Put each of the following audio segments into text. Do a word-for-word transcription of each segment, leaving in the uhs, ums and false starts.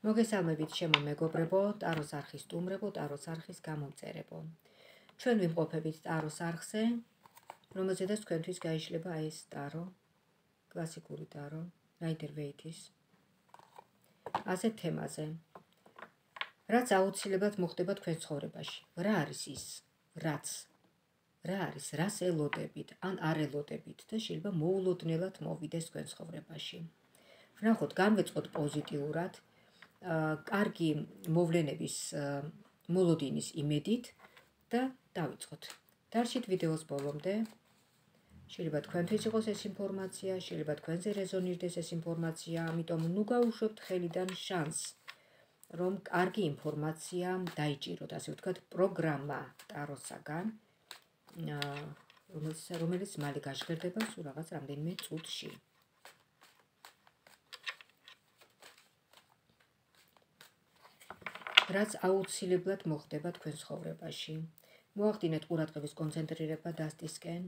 მოგესალმებით ჩემო მეგობრებო, ტაროს არხის სტუმრებო, ტაროს არხის გამომწერებო. ჩვენ ვიმყოფებით ტაროს არხზე, რომელზედაც თქვენთვის გაიშლება ეს ტარო, კლასიკური ტარო, რაიდერ-ვეითის. ასეთ თემაზე. რაც აუცილებლად მოხდება თქვენ ცხოვრებაში. რა არის ის, რაც რა არის, რას ელოდებით, ან არ ელოდებით და შეიძლება მოულოდნელად მოვიდეს თქვენ ცხოვრებაში. ვნახოთ, განვეწყოთ პოზიტიურად, კარგი მოვლენების მოლოდინის იმედით და დავიწყოთ. დარჩით ვიდეოს ბოლომდე. შეიძლება თქვენთვის იყოს ეს ინფორმაცია, შეიძლება თქვენზე რეზონირდეს ეს ინფორმაცია, ამიტომ ნუ გაუშვებთ ხელიდან შანსს, რომ კარგი ინფორმაცია დაიჭიროთ, ასე ვთქვათ, პროგრამა ტაროსაგან, რომელიც მალე გაჟღერდება სულ რაღაც რამდენიმე წუთში. რაც აუცილებლად მოხდება თქვენ ცხოვრებაში. მოახდინეთ ყურადღების კონცენტრირება დასტისკენ.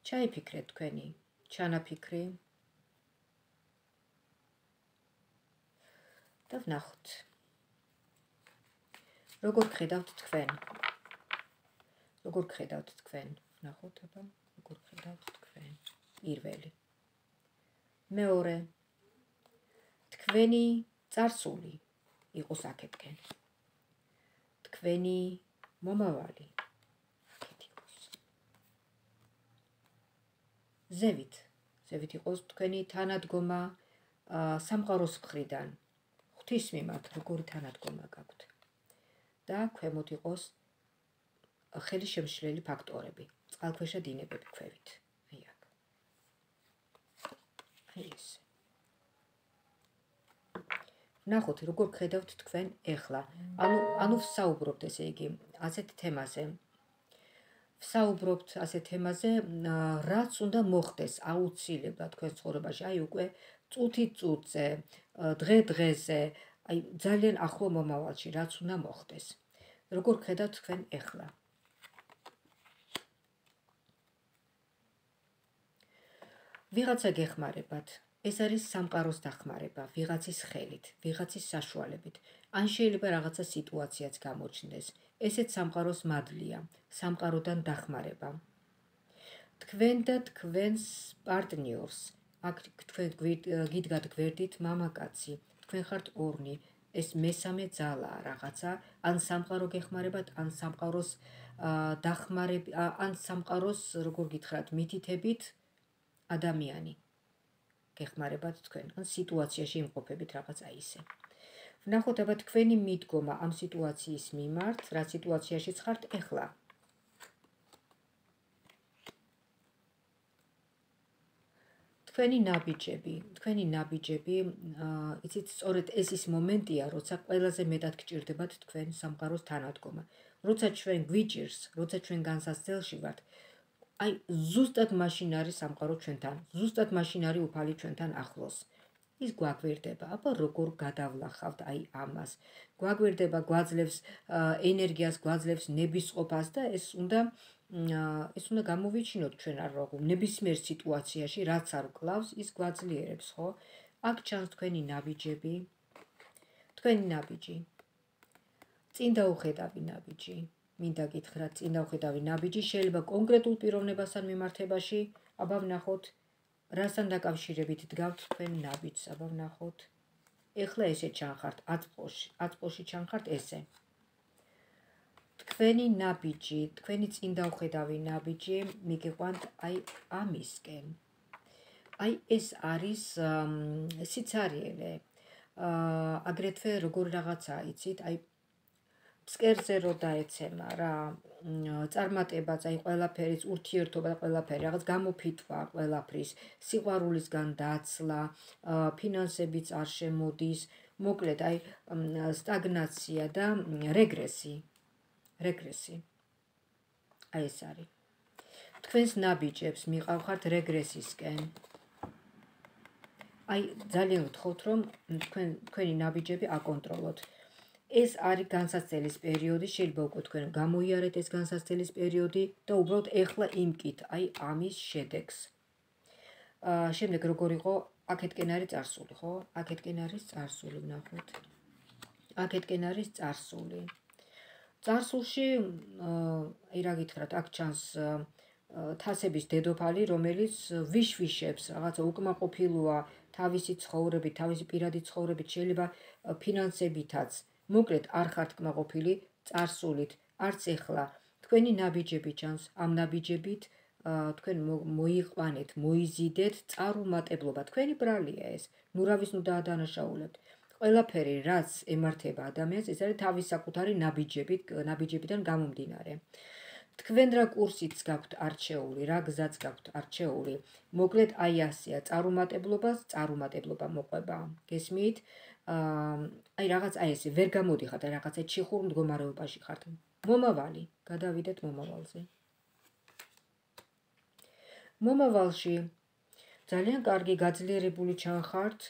ჩაიფიქრეთ თქვენი ჩანაფიქრი და ვნახოთ. როგორ გხედავთ თქვენ? როგორ გხედავთ თქვენ? ვნახოთ, აბა, როგორ გხედავთ თქვენ? პირველი. მეორე. თქვენი წარსული იყოს აქეთკენ. თქვენი მომავალი აქეთ იყოს. ზევით. ზევით იყოს თქვენი თანადგომა სამყაროს მხრიდან. ღვთის მიმართ როგორი თანადგომა გაქვთ. და ქვემოთ იყოს ხელისშემშლელი ფაქტორები, წყალქვეშა დინებები ქვევით. აი აქ. აი ეს. ვნახოთ, როგორ გხედავთ თქვენ ეხლა. ანუ ანუ ვსაუბრობთ, ესე იგი, ასეთ თემაზე. ვსაუბრობთ ასეთ თემაზე, რაც უნდა მოხდეს აუცილებლად თქვენ ცხოვრებაში, აი უკვე წუთი წუთზე, დღე დღეზე, აი ძალიან ახლო მომავალში, რაც უნდა მოხდეს. როგორ გხედავთ თქვენ ეხლა? ვიღაცა გეხმარებათ. ეს არის სამყაროს დახმარება, ვიღაცის ხელით, ვიღაცის საშუალებით. ან შეიძლება რაღაცა სიტუაციაც გამოჩნდეს. ესეც სამყაროს მადლია, სამყაროდან დახმარება. თქვენ და თქვენს პარტნიორს, აქ თქვენ გიდგათ გვერდით მამაკაცი, თქვენ ხართ ორნი, ეს მესამე ძალაა რაღაცა, ან სამყარო გეხმარებათ, ან სამყაროს დახმარება, ან სამყაროს, როგორ გითხრათ, მითითებით ადამიანი. გეხმარებათ თქვენ, ან სიტუაციაში იმყოფებით რაღაცა ისე. ვნახოთ, აბა თქვენი მიდგომა ამ სიტუაციის მიმართ, რა სიტუაციაშიც ხართ ეხლა. თქვენი ნაბიჯები, თქვენი ნაბიჯები, იცით, სწორედ ეს ის მომენტია, როცა ყველაზე მეტად გჭირდებათ თქვენ სამყაროს თანადგომა. როცა ჩვენ გვიჭირს, როცა ჩვენ განსაცდელში ვართ, აი ზუსტად მაშინ არის სამყარო ჩვენთან, ზუსტად მაშინ არის უფალი ჩვენთან ახლოს. ის გვაგვირდება, აბა როგორ გადავლახავთ აი ამას. გვაგვირდება, გვაძლევს ენერგიას, გვაძლევს ნებისყოფას და ეს უნდა ეს უნდა გამოვიჩინოთ ჩვენ არ ვაღუ ნებისმიერ სიტუაციაში, რაც არ გკლავს, ის გვაძლიერებს, ხო? აქ ჩანს თქვენი ნაბიჯები, თქვენი ნაბიჯი. წინ დაუხედავი ნაბიჯი. მინდა გითხრათ, წინ დაუხედავი ნაბიჯი შეიძლება კონკრეტულ პიროვნებასთან მიმართებაში, აბა ვნახოთ, რასთან დაკავშირებით დგავთ თქვენ ნაბიჯს, აბა ვნახოთ. ეხლა ესე ჩანხართ აწმყოში, აწმყოში ჩანხართ ესე. თქვენი ნაბიჯი, თქვენი წინ დაუხედავი ნაბიჯი მიგიყვანთ აი ამისკენ. აი ეს არის სიცარიელე. აგრეთვე როგორ რაღაცა იცით, აი ფსკერზე რო დაეცემა რა, წარმატებაც, აი ყველაფერის ურთიერთობა და ყველაფერი, რაღაც გამოფიტვა ყველაფრის, სიყვარულისგან დაცლა, ფინანსებიც არ შემოდის, მოკლედ აი სტაგნაცია და რეგრესი. რეგრესი. აი ეს არის. თქვენს ნაბიჯებს მიყავხართ რეგრესისკენ. აი ძალიან ვთხოვთ, რომ თქვენ თქვენი ნაბიჯები აკონტროლოთ. ეს არის განსაცდელის პერიოდი, შეიძლება უკვე თქვენ გამოიარეთ ეს განსაცდელის პერიოდი და უბრალოდ ეხლა იმკით, აი ამის შედეგს. შემდეგ როგორ იყო, აქეთკენ არის წარსული, ხო? აქეთკენ არის წარსული, ვნახოთ. აქეთკენ არის წარსული. წარსულში, აი რა გითხრათ, აქ ჩანს თასების დედოფალი, რომელიც ვიშვიშებს, რაღაცა უკმაყოფილოა თავისი ცხოვრებით, თავისი პირადი ცხოვრებით, შეიძლება ფინანსებითაც. მოკლედ არ ხართ კმაყოფილი წარსულით, არც ეხლა. თქვენი ნაბიჯები ჩანს, ამ ნაბიჯებით თქვენ მოიყვანეთ, მოიზიდეთ წარუმატებლობა. თქვენი ბრალია ეს. ნუ რავის ნუ დაადანაშაულებთ. ყველაფერი, რაც ემართება ადამიანს, ეს არის თავის საკუთარი ნაბიჯებით, ნაბიჯებიდან გამომდინარე. თქვენ რა კურსიც გაქვთ არჩეული, რა გზაც გაქვთ არჩეული. მოკლედ აი ასეა, წარუმატებლობას, წარუმატებლობა მოყვება. გესმით? აი რაღაც აი ესე ვერ გამოდიხართ, აი რაღაცა ჩიხურ მდგომარეობაში ხართ. მომავალი, გადავიდეთ მომავალზე. მომავალში ძალიან კარგი გაძლიერებული ჩანხართ.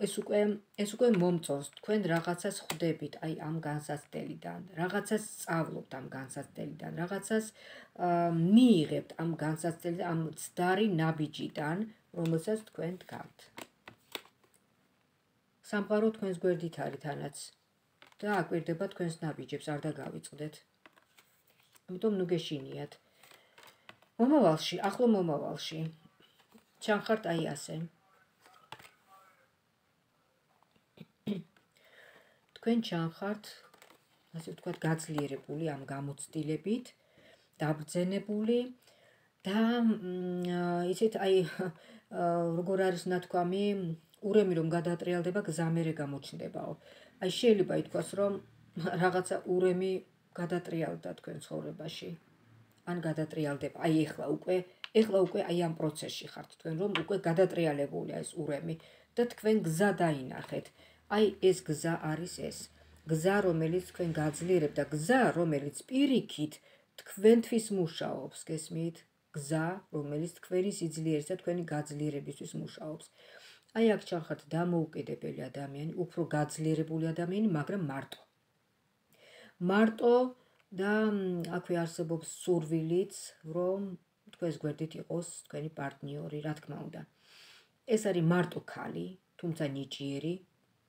ეს უკვე ეს უკვე მომწონს, თქვენ რაღაცას ხვდებით, აი ამ განსაცდელიდან, რაღაცას სწავლობთ ამ განსაცდელიდან, რაღაცას მიიღებთ ამ განსაცდელიდან, ამ ცდარი ნაბიჯიდან, რომელსაც თქვენ დგამთ. სამყარო თქვენს გვერდით არის თანაც და აკვირდება თქვენს ნაბიჯებს, არ დაგავიწყდეთ. ამიტომ ნუ გეშინიათ. მომავალში, ახლო მომავალში ჩანხართ აი ასე. თქვენ ჩანხართ, ასე ვთქვათ, გაძლიერებული ამ გამოცდილებით, დაბრძენებული და ისეთ აი როგორ არის ნათქვამი, ურემი რომ გადაატრიალდება, გზა მერე გამოჩნდებაო. აი შეიძლება ითქვას, რომ რაღაცა ურემი გადატრიალდა თქვენ ცხოვრებაში. ან გადატრიალდება. აი ეხლა უკვე, ეხლა უკვე აი ამ პროცესში ხართ თქვენ, რომ უკვე გადატრიალებულია ეს ურემი და თქვენ გზა დაინახეთ. აი ეს გზა არის ეს. გზა, რომელიც თქვენ გაძლიერებთ და გზა, რომელიც პირიქით თქვენთვის მუშაობს, გესმით? გზა, რომელიც თქვენი სიძლიერის და თქვენი გაძლიერებისთვის მუშაობს. აი აქ ჩანხართ დამოუკიდებელი ადამიანი, უფრო გაძლიერებული ადამიანი, მაგრამ მარტო. მარტო და აქვე არსებობს სურვილიც, რომ თქვენს გვერდით იყოს თქვენი პარტნიორი, რა თქმა უნდა. ეს არის მარტო ქალი, თუმცა ნიჭიერი,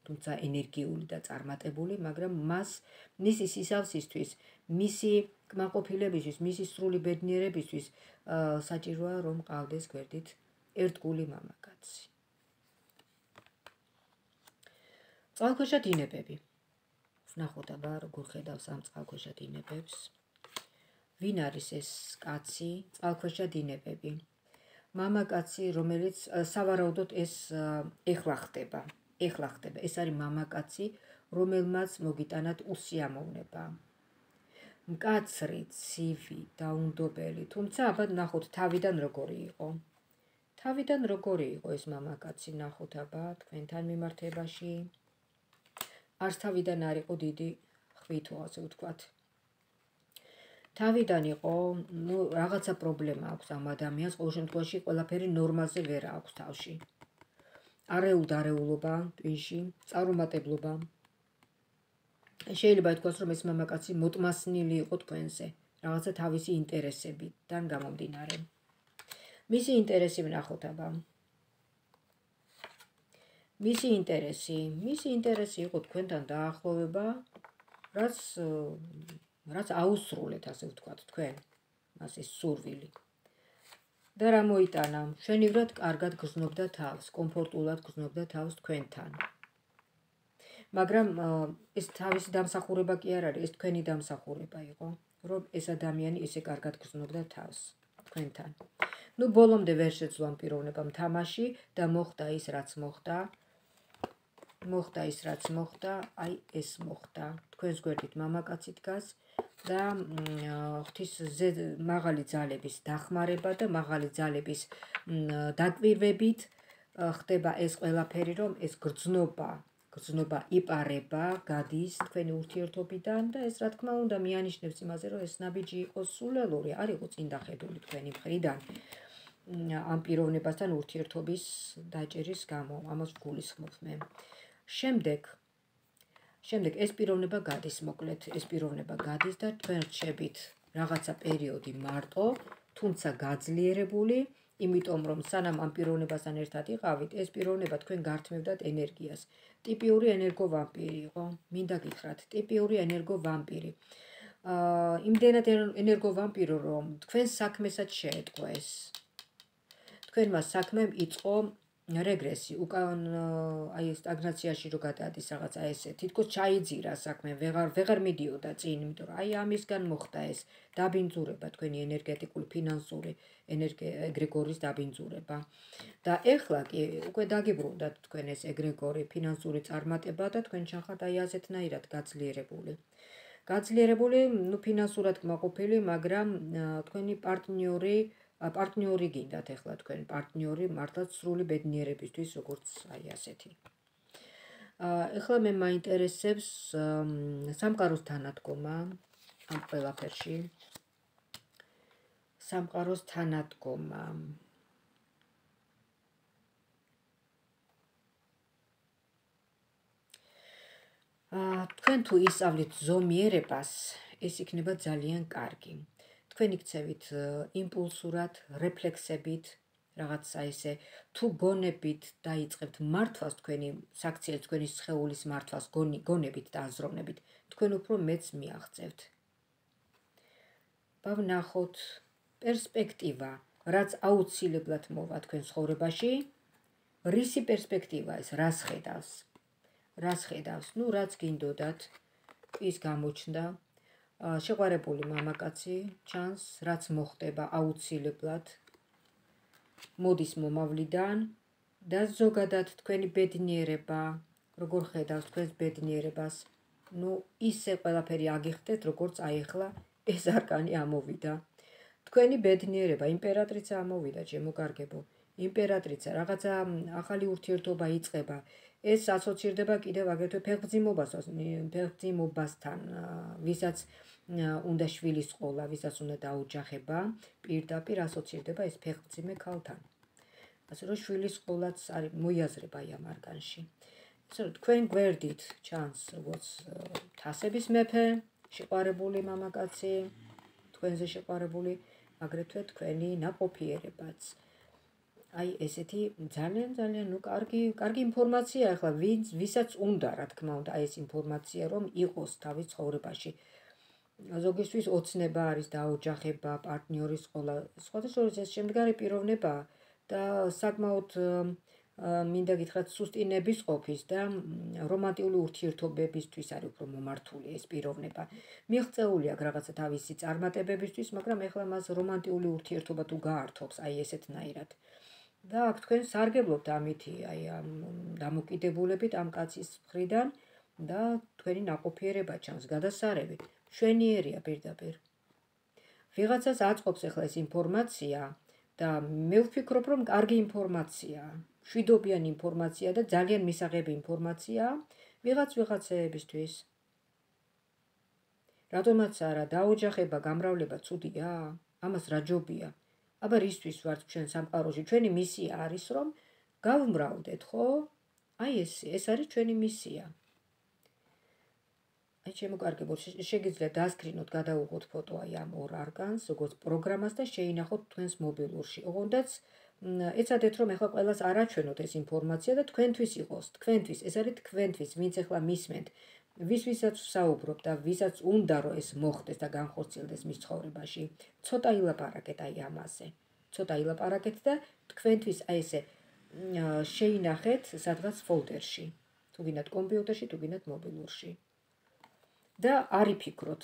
თუმცა ენერგიული და წარმატებული, მაგრამ მას მისი სისავსისთვის, მისი კმაყოფილებისთვის, მისი სრული ბედნიერებისთვის საჭიროა რომ ყავდეს გვერდით ერთგული მამაკაცი. წყალქვეშა დინებები. ვნახოთ აბა როგორ ხედავს ამ წყალქვეშა დინებებს. ვინ არის ეს კაცი? წყალქვეშა დინებები. მამაკაცი, რომელიც სავარაუდოდ ეს ეხლა ხდება. ეხლა ხდება. ეს არის მამაკაცი, რომელმაც მოგიტანათ უსიამოვნება. მკაცრი, ცივი, დაუნდობელი, თუმცა აბა ნახოთ თავიდან როგორი იყო. თავიდან როგორი იყო ეს მამაკაცი, ნახოთ აბა თქვენთან მიმართებაში. არც თავიდან არ იყო დიდი ხვითო, ასე ვთქვათ. თავიდან იყო, ნუ რაღაცა პრობლემა აქვს ამ ადამიანს, ყოველ შემთხვევაში ყველაფერი ნორმაზე ვერ აქვს თავში. არეულ-დარეულობა, ტვინში, წარუმატებლობა. შეიძლება ითქვას, რომ ეს მამაკაცი მოტმასნილი იყო თქვენზე, რაღაცა თავისი ინტერესებიდან გამომდინარე. მისი ინტერესი ვნახოთ აბა. მისი ინტერესი, მისი ინტერესი იყო თქვენთან დაახლოვება, რაც რაც აუსრულეთ, ასე ვთქვათ, თქვენ, მას ეს სურვილი. და რა მოიტანა? მშვენივრად კარგად გრძნობდა თავს, კომფორტულად გრძნობდა თავს თქვენთან. მაგრამ ეს თავისი დამსახურება კი არ არის, ეს თქვენი დამსახურება იყო, რომ ეს ადამიანი ესე კარგად გრძნობდა თავს თქვენთან. ნუ ბოლომდე ვერ შეძლო ამ პიროვნებამ თამაში და მოხდა ის, რაც მოხდა. მოხდა ის, რაც მოხდა, აი ეს მოხდა. თქვენს გვერდით მამაკაცი დგას და ღვთის მაღალი ძალების დახმარება და მაღალი ძალების დაკვირვებით ხდება ეს ყველაფერი, რომ ეს გრძნობა, გრძნობა იპარება, გადის თქვენი ურთიერთობიდან და ეს რა თქმა უნდა მიანიშნებს იმაზე, რომ ეს ნაბიჯი იყოს სულელური, არ იყო წინდახედული თქვენი მხრიდან ამ პიროვნებასთან ურთიერთობის დაჭერის გამო, ამას ვგულისხმობ მე. შემდეგ შემდეგ ეს პიროვნება გადის, მოკლედ ეს პიროვნება გადის და თქვენ რჩებით რაღაცა პერიოდი მარტო, თუმცა გაძლიერებული იმიტომ რომ სანამ ამ პიროვნებასთან ერთად იყავით, ეს პიროვნება თქვენ გართმევდათ ენერგიას. ტიპიური ენერგოვამპირი იყო, მინდა გითხრათ, ტიპიური ენერგოვამპირი. აა იმდენად ენერგოვამპირო რომ თქვენ საქმესაც შეეტყო ეს. თქვენმა საქმემ იწყო რეგრესი, უკან აი სტაგნაციაში რო გადადის რაღაცა ესე, თითქოს ჩაიძირა საქმე, ვეღარ ვეღარ მიდიოდა წინ, იმიტომ რომ აი ამისგან მოხდა ეს დაბინძურება, თქვენი ენერგეტიკული, ფინანსური, ეგრეგორის დაბინძურება. და ეხლა კი უკვე დაგიბრუნდათ თქვენ ეს ეგრეგორი, ფინანსური წარმატება და თქვენ ჩახართ აი ასეთნაირად გაძლიერებული. გაძლიერებული, ნუ ფინანსურად კმაყოფილი, მაგრამ თქვენი პარტნიორი პარტნიორი გინდათ ეხლა თქვენ პარტნიორი მართლაც სრული ბედნიერებისთვის როგორც აი ასეთი. ეხლა მე მაინტერესებს სამყაროს თანადგომა ამ ყველაფერში. სამყაროს თანადგომა. თქვენ თუ ისწავლით ზომიერებას, ეს იქნება ძალიან კარგი. თქვენ იქცევით იმპულსურად, რეფლექსებით, რაღაცა ესე, თუ გონებით დაიწყებთ მართვას თქვენი საქციელი, თქვენი სხეულის მართვას გონებით და აზროვნებით, თქვენ უფრო მეც მიაღწევთ. ვნახოთ პერსპექტივა, რაც აუცილებლად მოვა თქვენ ცხოვრებაში, რისი პერსპექტივა ეს, რას ხედავს? რას ხედავს? ნუ რაც გინდოდათ, ის გამოჩნდა. შეყვარებული მამაკაცი ჩანს, რაც მოხდება აუცილებლად მოდის მომავლიდან და ზოგადად თქვენი ბედნიერება, როგორ ხედავს თქვენს ბედნიერებას, ნუ ისე ყველაფერი აგიხდეთ, როგორც აი ახლა ეს არკანი ამოვიდა. თქვენი ბედნიერება, იმპერატრიცა ამოვიდა, ჩემოგარგებო. იმპერატრიცა, რაღაცა ახალი ურთიერთობა იწყება. ეს ასოცირდება კიდევ აგრეთვე ფეხმძიმობასთან, ვისაც უნდა შვილის ყოლა, ვისაც უნდა დაოჯახება, პირდაპირ ასოცირდება ეს ფეხმძიმე ქალთან. ასე რომ შვილის ყოლაც არის მოიაზრება ამ არკანში. ასე რომ თქვენ გვერდით ჩანს როგორც თასების მეფე, შეყვარებული მამაკაცი, თქვენზე შეყვარებული, აგრეთვე თქვენი ნაყოფიერებაც. აი ესეთი ძალიან ძალიან ნუ კარგი კარგი ინფორმაცია ახლა ვისაც უნდა რა თქმა უნდა ეს ინფორმაცია რომ იყოს თავის ცხოვრებაში. ზოგისთვის ოცნება არის დაოჯახება, პარტნიორის ყოლა, სხვადასხვა ეს შემდგარი პიროვნება და საკმაოდ მინდა გითხრათ სუსტი ნებისყოფის და რომანტიკული ურთიერთობებისთვის არის უფრო მომართული ეს პიროვნება. მიღწეული აქვს რაღაცა თავისი წარმატებებისთვის, მაგრამ ეხლა მას რომანტიკული ურთიერთობა თუ გაართობს აი ესეთნაირად. და აქ თქვენ სარგებლობთ ამითი, აი ამ დამოკიდებულებით ამ კაცის მხრიდან და თქვენი ნაყოფიერება ჩანს, გადასარევი, მშვენიერია პირდაპირ. ვიღაცას აწყობს ახლა ეს ინფორმაცია და მე ვფიქრობ, რომ კარგი ინფორმაციაა, მშვიდობიანი ინფორმაცია და ძალიან მისაღები ინფორმაციაა ვიღაც ვიღაცეებისთვის. რატომაც არა, დაოჯახება, გამრავლება ცუდია, ამას რა ჯობია? აბა რისთვის ვართ ჩვენ სამყაროში? ჩვენი მისია არის რომ გავმრავლდეთ, ხო? აი ეს ეს არის ჩვენი მისია. აი შემოგარგებო, შეგიძლიათ დასკრინოთ, გადაუღოთ ფოტო აი ამ ორ არკანს, როგორც პროგრამას და შეინახოთ თქვენს მობილურში. ოღონდაც ეცადეთ რომ ახლა ყველას არ აჩვენოთ ეს ინფორმაცია და თქვენთვის იყოს, თქვენთვის, ეს არის თქვენთვის, ვინც ახლა მისმენთ. ვის ვისაც ვსაუბრობ და ვისაც უნდა რომ ეს მოხდეს და განხორციელდეს მის ცხოვრებაში, ცოტა ილაპარაკეთ აი ამაზე. ცოტა ილაპარაკეთ და თქვენთვის აი ესე შეინახეთ სადღაც ფოლდერში, თუ გინდათ კომპიუტერში, თუ გინდათ მობილურში. და არ იფიქროთ,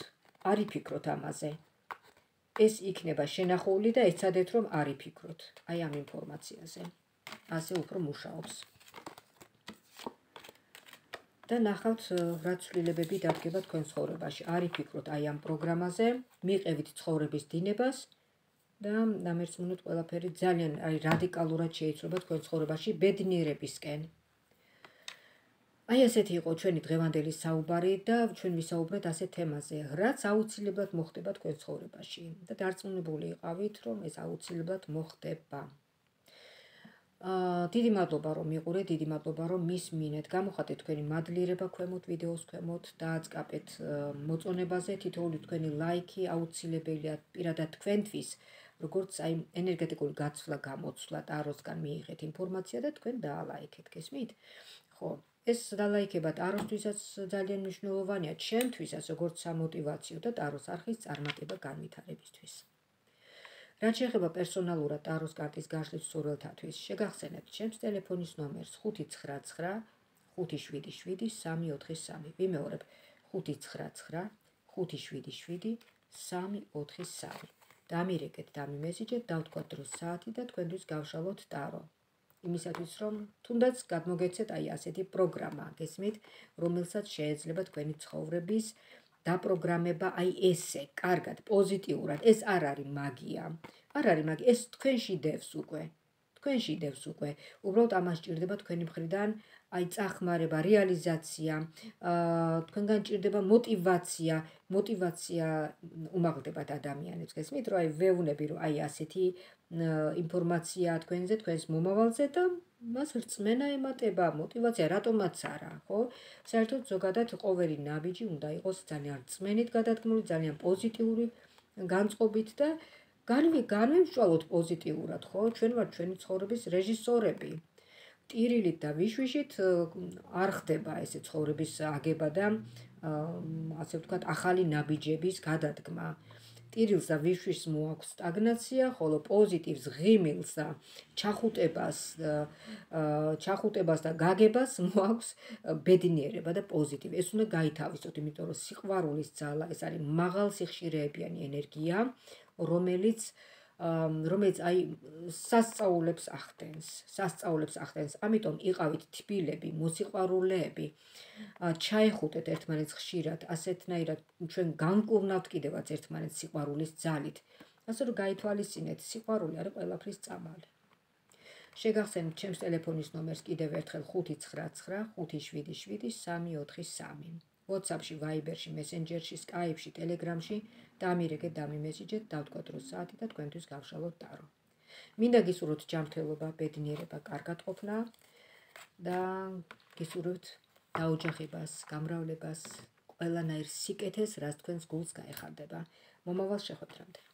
არ იფიქროთ ამაზე. ეს იქნება შენახული და ეცადეთ რომ არ იფიქროთ აი ამ ინფორმაციაზე. ასე უფრო მუშაობს. და ნახავთ რა ცვლილებები დადგება თქვენ ცხოვრებაში. არ იფიქროთ აი ამ პროგრამაზე, მიყევით ცხოვრების დინებას და დამერწმუნოთ ყველაფერი ძალიან აი რადიკალურად შეიცვლება თქვენ ცხოვრებაში ბედნიერებისკენ. აი ესეთი იყო ჩვენი დღევანდელი საუბარი და ჩვენ ვისაუბრეთ ასეთ თემაზე, რაც აუცილებლად მოხდება თქვენ ცხოვრებაში და დარწმუნებული იყავით, რომ ეს აუცილებლად მოხდება. დიდი მადლობა რომ მიყურეთ, დიდი მადლობა რომ მისმინეთ. გამოხატეთ თქვენი მადლიერება ქვემოთ ვიდეოს ქვემოთ, დააწყაპეთ მოწონებაზე, თითოეული თქვენი ლაიქი აუცილებელია პირადად თქვენთვის, როგორც აი ენერგეტიკული გაცვლა გამოცვლა ტაროსგან მიიღეთ ინფორმაცია და თქვენ დაალაიქეთ, გესმით? ხო, ეს დალაიქება ტაროსთვისაც ძალიან მნიშვნელოვანია, ჩემთვისაც როგორც სამოტივაციო და ტაროს არხის წარმატება განვითარებისთვის. რაც შეეხება პერსონალურად ტაროს კარტის გაშლის მსურველთათვის, შეგახსენებთ ჩემს ტელეფონის ნომერს ხუთი ცხრა ცხრა ხუთი შვიდი შვიდი სამი ოთხი სამი. ვიმეორებ ხუთი ცხრა ცხრა ხუთი შვიდი შვიდი სამი ოთხი სამი. დამირეკეთ, დამიმესიჯეთ, დავთქვათ დროს საათი და თქვენთვის გავშალოთ ტარო. იმისათვის რომ თუნდაც გადმოგეცეთ აი ასეთი პროგრამა, გესმით, რომელსაც შეიძლება თქვენი ცხოვრების დაპროგრამება აი ესე, კარგად, პოზიტიურად. ეს არ არის მაგია. არ არის მაგია, ეს თქვენში დევს უკვე. თქვენში დევს უკვე. უბრალოდ ამას ჭირდება თქვენი მხრიდან აი წახმარება, რეალიზაცია, თქვენგან ჭირდება მოტივაცია, მოტივაცია უმაღლდებათ ადამიანებს, გესმით, რომ აი ვეუბნები, რომ აი ასეთი ინფორმაცია თქვენზე, თქვენს მომავალზე და მას რწმენა ემატება, მოტივაცია, რატომაც არა, ხო? საერთოდ ზოგადად ყოველი ნაბიჯი უნდა იყოს ძალიან რწმენით გადადგმული, ძალიან პოზიტიური განწყობით და განვიმსჯვალოთ პოზიტიურად, ხო? ჩვენ ვართ ჩვენი ცხოვრების რეჟისორები. ტირილით და ვიშვიშით არ ხდება ესე ცხოვრების აგება და ასე ვთქვათ, ახალი ნაბიჯების გადადგმა. ტირილს და ვიშვიშს მოაქვს სტაგნაცია, ხოლო პოზიტივს, ღიმილს და ჩახუტებას, ჩახუტებას და გაგებას მოაქვს ბედნიერება და პოზიტივი. ეს უნდა გაითავისოთ, იმიტომ რომ სიყვარულის ძალა, ეს არის მაღალსიხშირეებიანი ენერგია, რომელიც რომელიც აი სასწაულებს ახდენს, სასწაულებს ახდენს. ამიტომ იყავით თბილები, მოსიყვარულეები, ჩაეხუტეთ ერთმანეთს ხშირად, ასეთნაირად ჩვენ განკურნავთ კიდევაც ერთმანეთს სიყვარულის ძალით. ასე რომ გაითვალისწინეთ, სიყვარული არის ყველაფრის წამალი. შეგახსენებთ ჩემს ტელეფონის ნომერს კიდევ ერთხელ ხუთი ცხრა ცხრა ხუთი შვიდი შვიდი სამი ოთხი სამი. WhatsApp-ში, Viber-ში, Messenger-ში, Skype-ში, Telegram-ში დამირეკეთ, დამიმესიჯეთ, დავთქვათ დროს საათი და თქვენთვის გავშალოთ ტარო. მინდა გისურვოთ ჯანმრთელობა, ბედნიერება, კარგადყოფნა და გისურვებთ დაოჯახებას, გამრავლებას, ყველანაირ სიკეთეს, რაც თქვენს გულს გაეხარდება. მომავალ შეხვედრამდე.